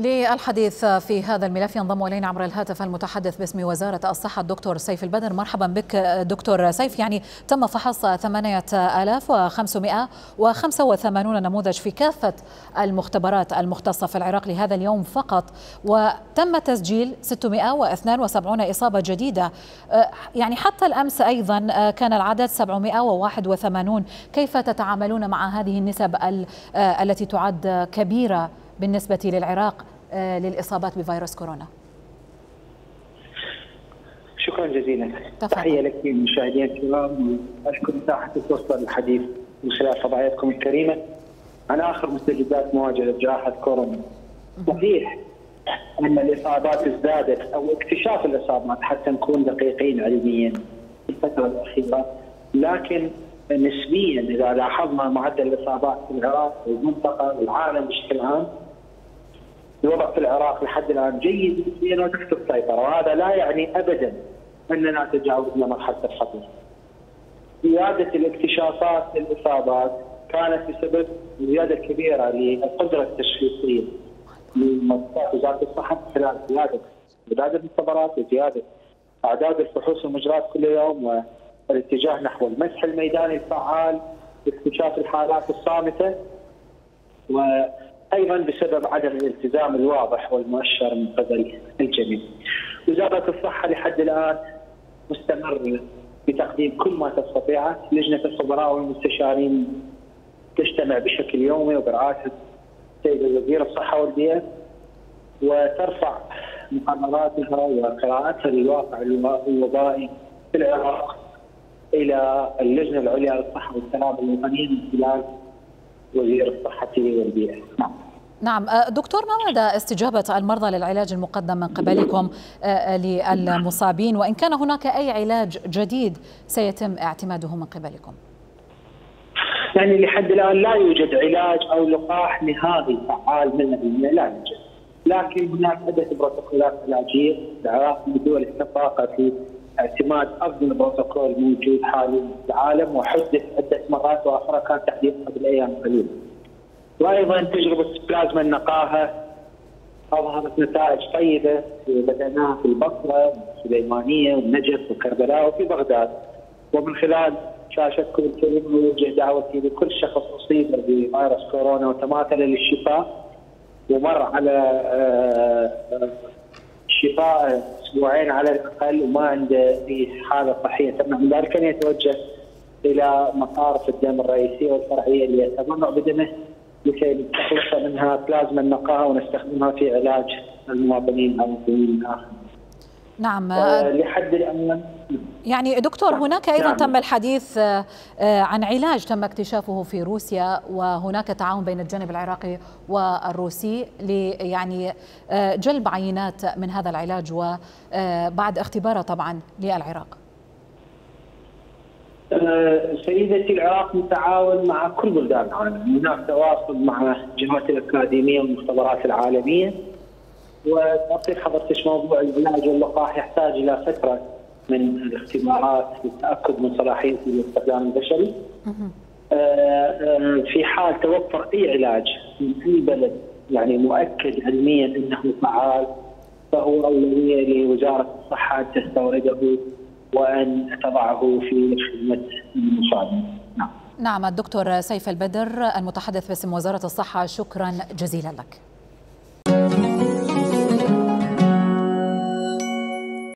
للحديث في هذا الملف ينضم إلينا عبر الهاتف المتحدث باسم وزارة الصحة الدكتور سيف البدر. مرحبا بك دكتور سيف. يعني تم فحص 8585 نموذج في كافة المختبرات المختصة في العراق لهذا اليوم فقط، وتم تسجيل 672 إصابة جديدة. يعني حتى الأمس أيضا كان العدد 781. كيف تتعاملون مع هذه النسب التي تعد كبيرة بالنسبة للعراق للإصابات بفيروس كورونا؟ شكرا جزيلا. تحية لك مشاهدينا الكرام، وأشكر مساحة الفرصة للحديث من خلال فضائيتكم الكريمة عن آخر مستجدات مواجهة جائحة كورونا. صحيح أن الإصابات ازدادت أو اكتشاف الإصابات حتى نكون دقيقين علميا في الفترة الأخيرة، لكن نسبيا إذا لاحظنا معدل الإصابات في العراق والمنطقة والعالم بشكل عام، الوضع في العراق لحد الآن جيد نسبيا وتحت السيطرة، وهذا لا يعني أبدا أننا تجاوزنا مرحلة الخطر. زيادة الاكتشافات للإصابات كانت بسبب الزيادة الكبيرة للقدرة التشخيصية لمؤسسات وزارة الصحة خلال زيادة أعداد المختبرات وزيادة أعداد الفحوص والمجريات كل يوم، والاتجاه نحو المسح الميداني الفعال لاكتشاف الحالات الصامتة، وأيضا بسبب عدم الالتزام الواضح والمؤشر من قبل الجميع. وزارة الصحة لحد الآن مستمرة بتقديم كل ما تستطيعه. لجنة الخبراء والمستشارين تجتمع بشكل يومي وبرعاية السيد وزير الصحة والبيئة، وترفع مقرراتها وقراءاتها للواقع الوبائي في العراق إلى اللجنة العليا للصحة والسلامة الوطنية من خلال وزير الصحة والبيئة. نعم دكتور، ما مدى استجابة المرضى للعلاج المقدم من قبلكم للمصابين، وإن كان هناك أي علاج جديد سيتم اعتماده من قبلكم؟ يعني لحد الآن لا يوجد علاج أو لقاح نهائي فعال 100%، لا يوجد، لكن هناك عدة بروتوكولات علاجية. العراق من الدول السباقة في اعتماد افضل بروتوكول موجود حاليا في العالم، وحدث عده مرات واخرى كان تحديث قبل ايام قليله. وايضا تجربه بلازما النقاهه اظهرت نتائج طيبه بدأناها في البصره والسليمانيه والنجف وكربلاء وفي بغداد. ومن خلال شاشتكم الكريمه اوجه دعوتي لكل شخص اصيب بفيروس كورونا وتماثل للشفاء ومر على شفاء اسبوعين على الاقل وما عنده اي حاله صحيه تمنع من ذلك ان يتوجه الى مصارف الدم الرئيسيه والفرعيه اللي يتبرع بدمه لكي نستخلص منها بلازما النقاهه ونستخدمها في علاج المواطنين او المواطنين الاخرين. نعم. لحد الان يعني دكتور هناك ايضا تم الحديث عن علاج تم اكتشافه في روسيا، وهناك تعاون بين الجانب العراقي والروسي يعني جلب عينات من هذا العلاج وبعد اختباره طبعا للعراق. سيدتي، العراق متعاون مع كل بلدان العالم، هناك تواصل مع الجهات الاكاديميه والمختبرات العالميه، وتعطي حضرتك موضوع العلاج واللقاح يحتاج الى فتره من الاختبارات للتاكد من صلاحيته للاستخدام البشري. في حال توفر اي علاج من اي بلد يعني مؤكد علميا انه فعال، فهو اولويه لوزاره الصحه ان تستورده وان تضعه في خدمه المصابين. نعم الدكتور سيف البدر المتحدث باسم وزاره الصحه، شكرا جزيلا لك.